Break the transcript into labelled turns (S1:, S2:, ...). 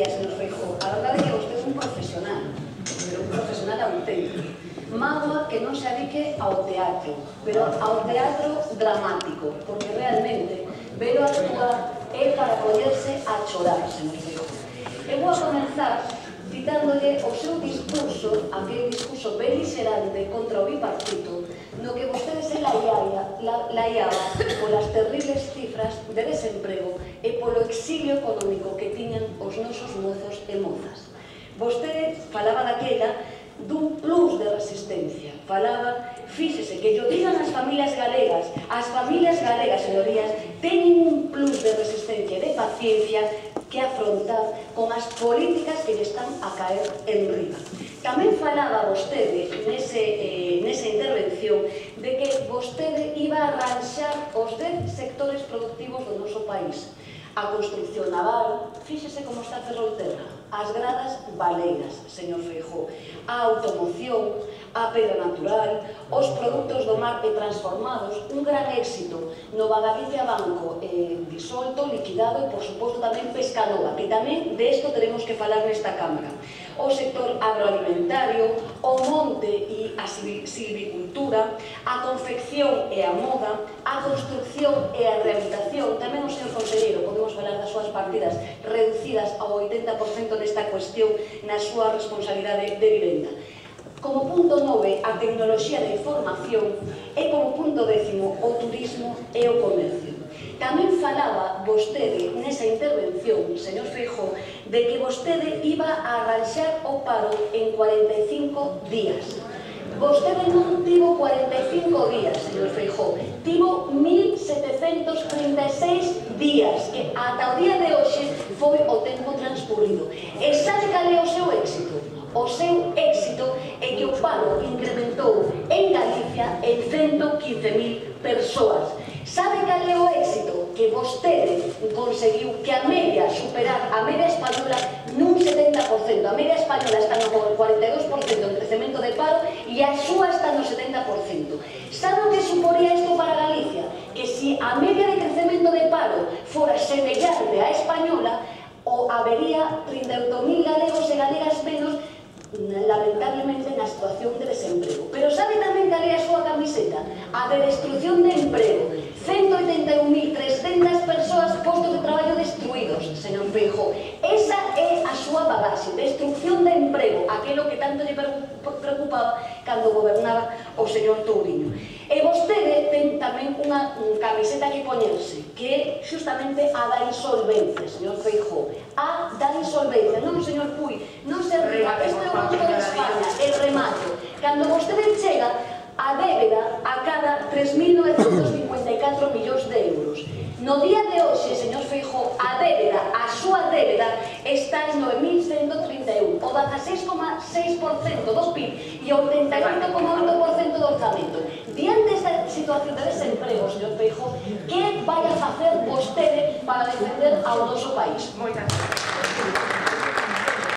S1: decía, señor Feijóo, a verdade é que vostede é un profesional, pero un profesional auténtico. Mágoa que non se adique ao teatro, pero ao teatro dramático, porque realmente velo actuar é para poñerse a chorar, señor Feijóo. Eu vou a comenzar citándolle o seu discurso, aquel discurso beligerante contra o bipartito, no que vostede se laiaba polas terribles cifras de desemprego e polo exilio económico que tiñan os nosos mozos e mozas. Vostede falaba daquela dun plus de resistencia. Falaba, fíxese, que yo digan as familias galegas, señorías, teñen un plus de resistencia e de paciencia que afrontar con as políticas que lle están a caer en riba. Tamén falaba vostede nesa intervención de que vostede iba a arranxar os 10 sectores productivos do noso país. A construcción naval, fíxese como está Ferrolterra, as gradas baleiras, señor Feijóo, a automoción, a pedra natural, os produtos do mar e transformados, un gran éxito, Nova Galicia Banco disolto, liquidado e, por suposto, tamén Pescanova, que tamén de isto teremos que falar nesta Cámara. O sector agroalimentario, o monte e a silvicultura, a confección e a moda, a construcción e a rehabilitación, tamén o señor conselleiro, podemos falar das súas partidas reducidas ao 80% nesta cuestión na súa responsabilidade de vivenda. Como punto 9, a tecnoloxía da información e como punto 10, o turismo e o comercio. Tamén falaba vostede nesa intervención, señor Feijóo, de que vostede iba a arranxar o paro en 45 días. Vostede non tivo 45 días, señor Feijóo, tivo 1736 días, que ata o día de hoxe foi o tempo transcurrido. E sabe cal é o seu éxito? O seu éxito é que o paro incrementou en Galicia en 115.000 persoas. Sabe cal é o éxito? Que vostede conseguiu que a media superar a media española nun 70%. A media española está no 42% en crecemento de paro e a súa está no 70%. Sabe o que suporía isto para Galicia? Que se a media de crecemento de paro fora semellante á española, habería 38.000 galegos e galegas menos lamentablemente na situación de desemprego. Pero sabe tamén cal é a súa camiseta? A de destrucción de emprego. 181.300 persoas, postos de traballo destruídos, señor Feijóo. Esa é a súa bagaxe, destrucción de emprego, aquilo que tanto lle preocupaba cando gobernaba o señor Touriño. E vostede ten tamén unha camiseta que poñerse, que é justamente a da insolvencia, señor Feijóo. A da insolvencia. Non, señor Puy, non se ría, isto é o Banco de España, el remato. Cando vostede chega, a débeda acada 3.954 millóns de euros. No día de hoxe, señor Feijóo, a débeda, a súa débeda, está en 9.131, o 16,6% do PIB e o 88,8% do orzamento. Diante desta situación de desemprego, señor Feijóo, que vai a facer vostede para defender ao noso país?
S2: Moitas gracias.